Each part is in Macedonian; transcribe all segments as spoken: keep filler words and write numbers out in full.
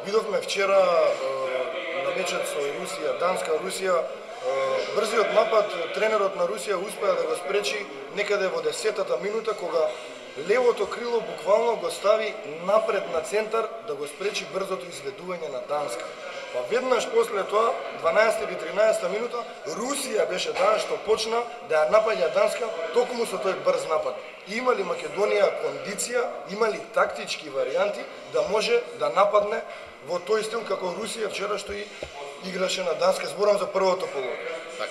Видовме вчера на мечот со Русија, Данска, Русија, брзиот напад тренерот на Русија успеа да го спречи некаде во десетата минута, кога левото крило буквално го стави напред на центар да го спречи брзото изведување на Данска. Па веднаш после тоа, дванаесета или тринаесета минута, Русија беше таа што почна да ја напаѓа Данска токму со тој брз напад. И има ли Македонија кондиција, има ли тактички варијанти да може да нападне во тој стил како Русија вчера што и играше на Данска? Зборам за првото полувреме. Така.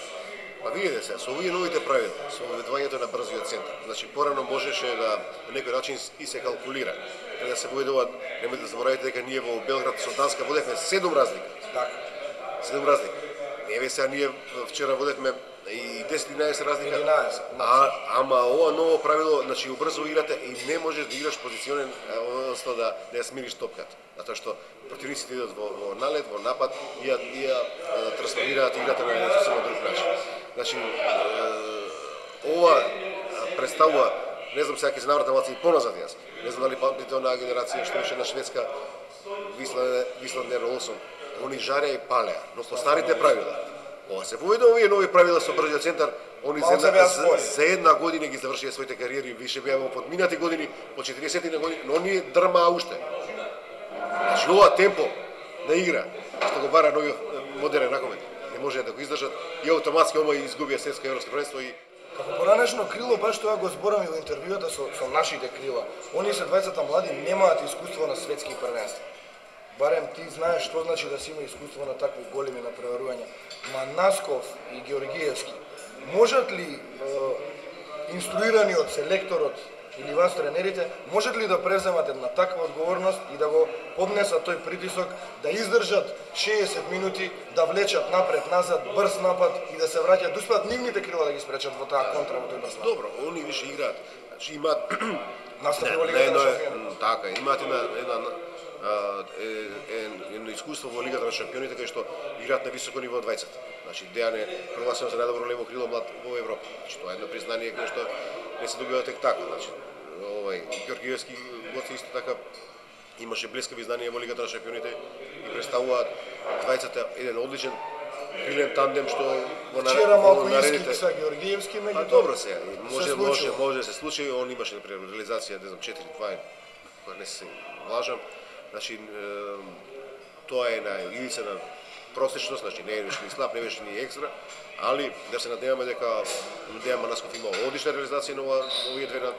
Па видите се, со овие новите правила, со воведувањето на брзиот центар, значи порано можеше да на некој начин и се калкулира. Да се воведуваат, немојте да заборавите дека ние во Белград со Данска водевме седум разлика. Така. седум разлика. Еве сега ние вчера водевме и десет-единаесет разлика. единаесет. А ама ова ново правило, значи убрзо играте и не можеш да играш позиционен, односно да да ја смириш топката. Затоа што противниците идат во, во налет, во напад и ја, и ја трансформираат играта на еден сосема друг начин. Значи ова представува, не знам сега ќе се навратам малку и поназад јас. Не знам дали памтите онаа генерација што беше на Шведска, Висланд Олсон. Они жареа и палеа, но по старите правила. Ова се воведува овие нови правила со брзиот центар, они за, за, за една година ги завршија своите кариери, више беа во подминати години, по четиридесет години, но оние дрмаа уште. Значи ова темпо на игра, што го бара новиот модерен ракомет, не може да го издржат и автоматски ома изгубија светско европско првенство и како поранешно крило, баш тоа го зборам и во интервјуата со, со нашите крила. Они се дваесет млади, немаат искуство на светски првенства. Барем ти знаеш што значи да си има искуство на такви големи напреварувања. Манасков и Георгиевски, можат ли е, инструирани од селекторот или вас тренерите, можат ли да преземат една таква одговорност и да го поднесат тој притисок, да издржат шеесет минути, да влечат напред-назад, брз напад и да се враќаат, да успеат нивните крила да ги спречат во таа контра во тој брз напад? Добро, они више играат. Значи имаат настапи во Лигата на шампионите. Така, имаат една една едно искуство во Лигата на шампионите кај што играат на високо ниво дваесет. Значи Дејан е прогласен за најдобро лево крило млад во Европа. Значи тоа е едно признание кое што не се добива тек така. Значи овај Георгиевски гоци исто така имаше блескави знания во Лигата на шампионите и представуваат дваесет еден одличен крилен тандем што во наредите са Георгиевски меѓу. А добро се, може може може да се случи, он имаше например реализација, не знам, четири два, кога не се лажам. Значи, тоа е на ивица на просечност, значи не е ни слаб, не беше ни екстра, али да се надеваме дека Дејан Манасков има одлична реализација на овие две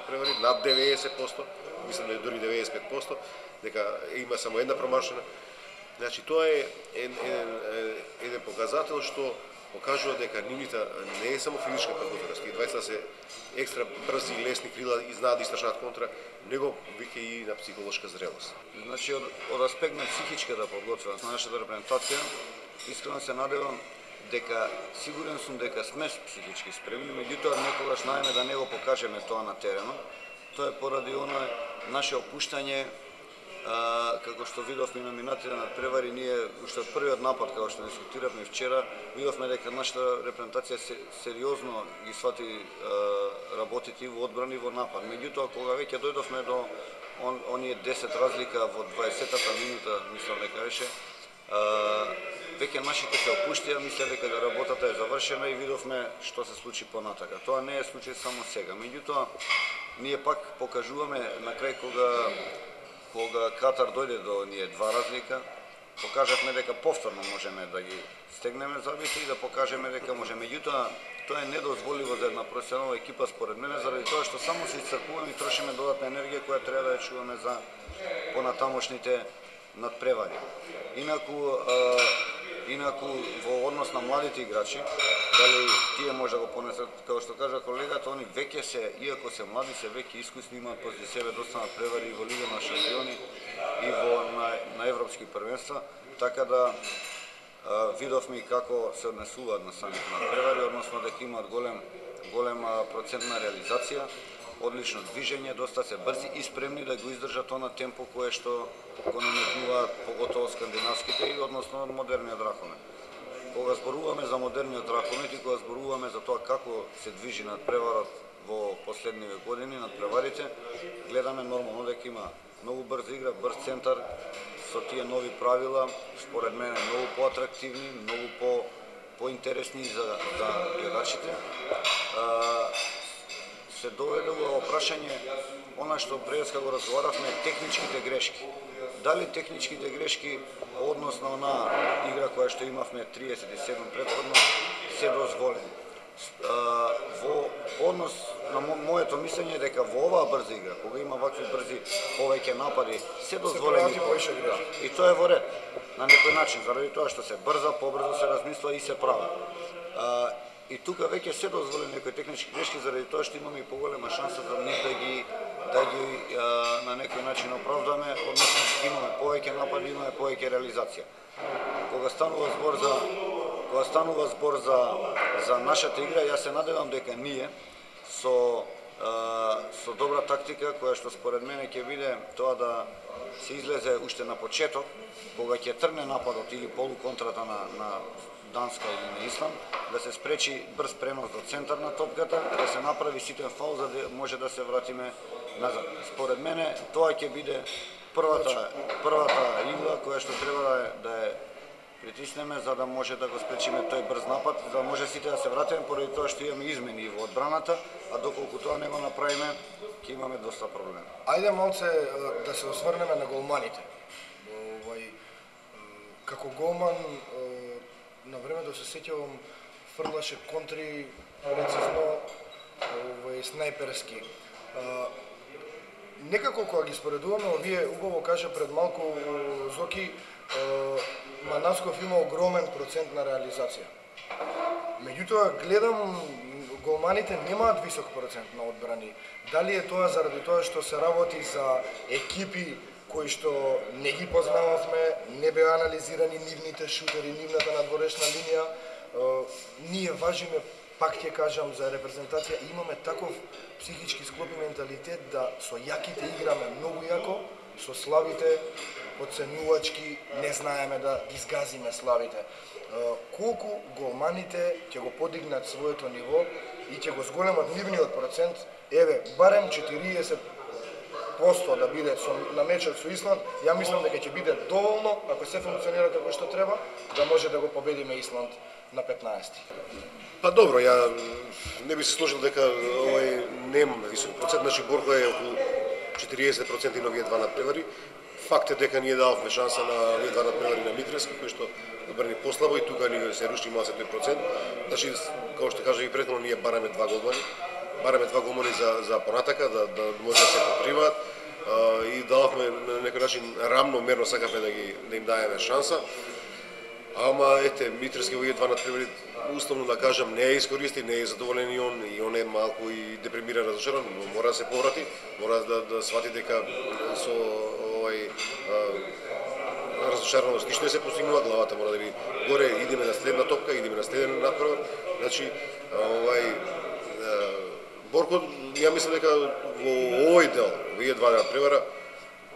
превари, над деветдесет проценти, мислам да е дури деветдесет и пет проценти, дека има само една промашена. Значи, тоа е еден, еден показател што покажува дека нивните не е само физичка подготвеност, и дваесет се екстра брзи и лесни крила и знаат да истрашат контра, него веќе и на психолошка зрелост. Значи од, од аспект на психичката подготвеност на нашата репрезентација, искрено се надевам дека сигурен сум дека сме психички спремни, меѓутоа некогаш најме да не го покажеме тоа на теренот. Тоа е поради оној наше опуштање. А, како што видовме на минатите надпревари, ние уште од првиот напад, како што дискутиравме вчера, видовме дека нашата репрезентација се, сериозно ги свати а, работите во одбрани во напад. Меѓутоа, кога веќе дојдовме до он, оние десет разлика во дваесетата минута, мислам дека беше, а, веќе нашите се опуштија, мисле дека работата е завршена и видовме што се случи понатака. Тоа не е случај само сега. Меѓутоа, ние пак покажуваме на крај кога кога Катар дојде до ние два разлика, покажавме дека повторно можеме да ги стегнеме забите и да покажеме дека може. Меѓутоа, тоа е недозволиво за една професионална екипа според мене, заради тоа што само се исцрпуваме и трошиме додатна енергија која треба да ја чуваме за понатамошните надпревари. Инаку, а, инаку во однос на младите играчи, дали тие може да го понесат, како што кажа колегата, они веќе се, иако се млади, се веќе искусни, имаат пози себе доста надпревари во Лига на шампиони и во на, на европски првенства, така да а, видовме и како се однесуваат на самите надпревари, односно дека имаат голем голема процентна реализација, одлично движење, доста се брзи и спремни да го издржат она темпо кое што го наметнуваат поготово скандинавските и односно модерниот ракомет. Кога зборуваме за модерниот ракомет и кога зборуваме за тоа како се движи надпреварот во последниве години, надпреварите, гледаме нормално дека има многу брза игра, брз центар, со тие нови правила, според мене многу поатрактивни, многу по поинтересни за за гледачите. Се доведе во прашање она што преска го разговаравме, техничките грешки. Дали техничките грешки однос на онаа игра која што имавме триесет и седум претходно се дозволени? Во однос на моето мислење дека во оваа брза игра, кога има вакви брзи повеќе напади, се дозволени повеќе грешки. И тоа е во ред на некој начин, заради тоа што се брза, побрзо се размислува и се прави. И тука веќе се дозволени некои технички грешки заради тоа што имаме и поголема шанса да ние да ги да ги а, на некој начин оправдаме, односно имаме повеќе напади, имаме повеќе реализација. Кога станува збор за кога станува збор за за нашата игра, јас се надевам дека ние со а, со добра тактика која што според мене ќе биде тоа да се излезе уште на почеток, кога ќе тргне нападот или полуконтрата на на Данска или на Исланд, да се спречи брз пренос до центар на топката, да се направи ситен фаул за да може да се вратиме назад. Според мене тоа ќе биде првата првата игла која што треба да е, да е притиснеме за да може да го спречиме тој брз напад, за да може сите да се вратиме поради тоа што имаме измени во одбраната, а доколку тоа не го направиме, ќе имаме доста проблеми. Ајде малце да се осврнеме на голманите. Овај како голман на времето се сеќавам фрлаше контри прецизно, овај снайперски. Некако кога ги споредуваме, овие убаво кажа пред малку Зоки, Манасков има огромен процент на реализација. Меѓутоа гледам голманите немаат висок процент на одбрани. Дали е тоа заради тоа што се работи за екипи кои што не ги познававме, не беа анализирани нивните шутери, нивната надворешна линија. Ние важиме, пак ќе кажам, за репрезентација, имаме таков психички склоп и менталитет да со јаките играме многу јако, со слабите подценувачки не знаеме да ги згазиме слабите. Колку голманите ќе го подигнат своето ниво и ќе го зголемат нивниот процент, еве, барем четириесет проценти да биде со, на мечот со Исланд, ја мислам дека ќе биде доволно, ако се функционира како што треба, да може да го победиме Исланд на петнаесети. Па добро, ја не би се сложил дека овој нема висок процент, значи Борко е околу четириесет проценти на овие два надпревари. Факт е дека ние дававме шанса на овие два надпревари на Митрески, кој што одбрани послабо и тука ни се руши малце тој процент. Значи, како што кажа и претходно, ние бараме два голмани. Бараме два голмани за за понатака да да може да се покриваат и дававме на некој начин рамномерно сакавме да ги да им даеме шанса. Ама ете Митрески овие два надпревари условно да кажам не е искористи, не е задоволен и он и он е малку и депримиран, разочаран, но мора да се поврати, мора да да свати дека со овој разочараност ништо не се постигнува, главата мора да би горе, идеме на следна топка, идеме на следен надпревар. Значи овај Борко, ја мислам дека во овој дел, овие два надпревара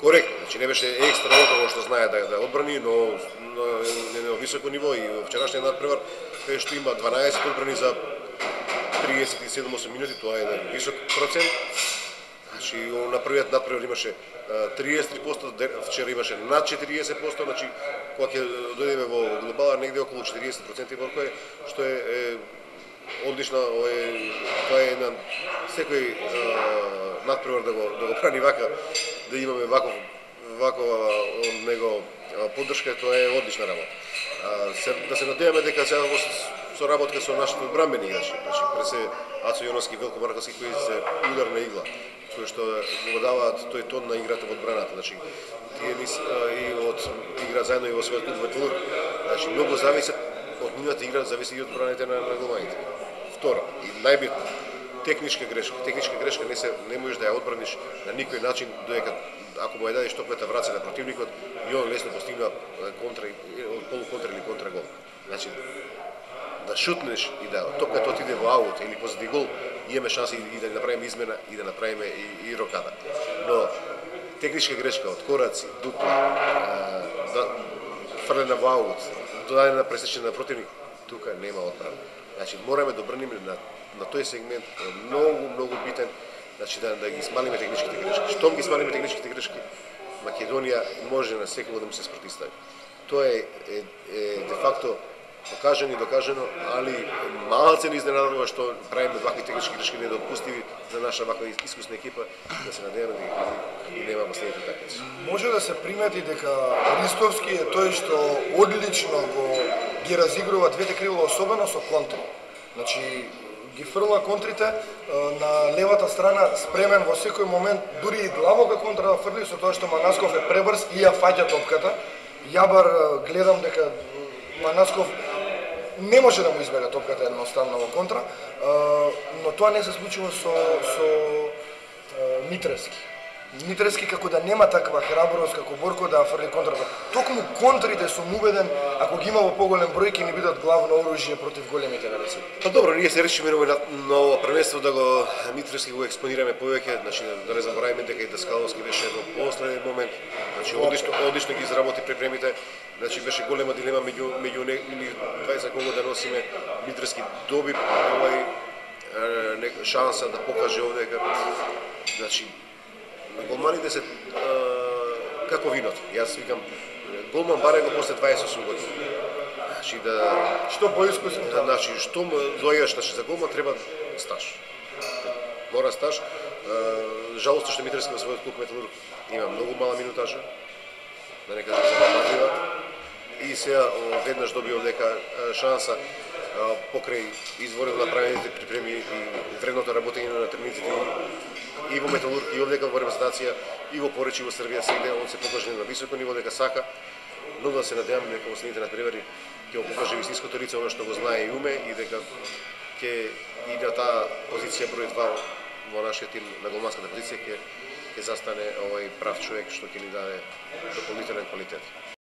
коректно, значи не беше екстра од тоа што знае да да одбрани, но на, на високо ниво и во вчерашниот надпревар кај што има дванаесет одбрани за триесет и седум осум минути, тоа е еден висок процент. Значи на првиот надпревар имаше триесет и три проценти, вчера имаше над четириесет проценти, значи кога ќе дојдеме во глобала негде околу четириесет проценти Борко е, што е, е одлична, е, тоа е еден секој е, надпревар да го да го прани вака, да имаме ваков вакова од него поддршка, тоа е одлична работа. А, се, да се надеваме дека сега во соработка со нашите одбранбени играчи, значи пресе Ацо Јоновски, Велко Марковски кои се ударна игла, кои што го даваат тој тон на играта во одбраната, значи тие нис, и од игра заедно и во својот клуб Ветлур, значи многу зависи од нивната игра, зависи и од одбраните на, на голманите. Второ, и најбитно, техничка грешка. Техничка грешка не се не можеш да ја одбраниш на никој начин додека ако му ја дадеш топката враца на противникот и он лесно постигна контра полуконтра или контра гол. Значи да шутнеш и да топката отиде во аут или позади гол, имаме шанси и да направиме измена и да направиме и, и рокада. Но техничка грешка од кораци, дупла, да фрлена во аут, додадена пресечена на противник, тука нема одбрана. Значи мораме да обрнеме на на тој сегмент многу многу битен, значи да да ги смалиме техничките грешки. Штом ги смалиме техничките грешки, Македонија може на секој да му се спротивстави. Тоа е, е, е де факто покажано и докажано, али малце не изненадува што правиме вакви технички грешки недопустиви за наша ваква искусна екипа, да се надеваме да ги нема последните такмици. Може да се примети дека Ристовски е тој што одлично го ги разигрува двете крила, особено со контри. Значи, ги фрла контрите на левата страна, спремен во секој момент, дури и длабока контра да фрли, со тоа што Манасков е пребрз и ја фаќа топката. Јабар гледам дека Манасков не може да му избега топката едноставно во контра, но тоа не се случува со, со Митрески. Митрески како да нема таква храброст како Борко да фрли контрата. Токму контрите сум убеден, ако ги има во поголем број, ќе ни бидат главно оружје против големите велесили. Па добро, ние се решиме на ново првенство да го Митрески го експонираме повеќе, значи да не забораваме дека и Даскаловски беше во последен момент, значи одлично, одлично ги изработи припремите. Значи беше голема дилема меѓу меѓу двајца кого да носиме. Митрески доби овај шанса да покаже овде дека значи голманите се а, како виното. Јас викам голман баре го после дваесет и осум години. Значи да што поискусен да, значи што дојдеш, значи за голман треба стаж. Мора стаж. Жалосно што Митрески во својот клуб Металург има многу мала минутажа. Да не кажам забавлива. И сега веднаш добил дека шанса покрај изворено направените припреми и вредното работење на тренерите и во Металург, и овдека во репрезентација, и во Поречи, и во Србија, сегде он се покаже на високо ниво дека сака, но да се надеваме дека во следните надпревари ќе го покаже вистинското лице, оно што го знае и уме, и дека ќе и на таа позиција број два во нашиот тим на голманската позиција ќе ќе застане овој прав човек што ќе ни даде дополнителен квалитет.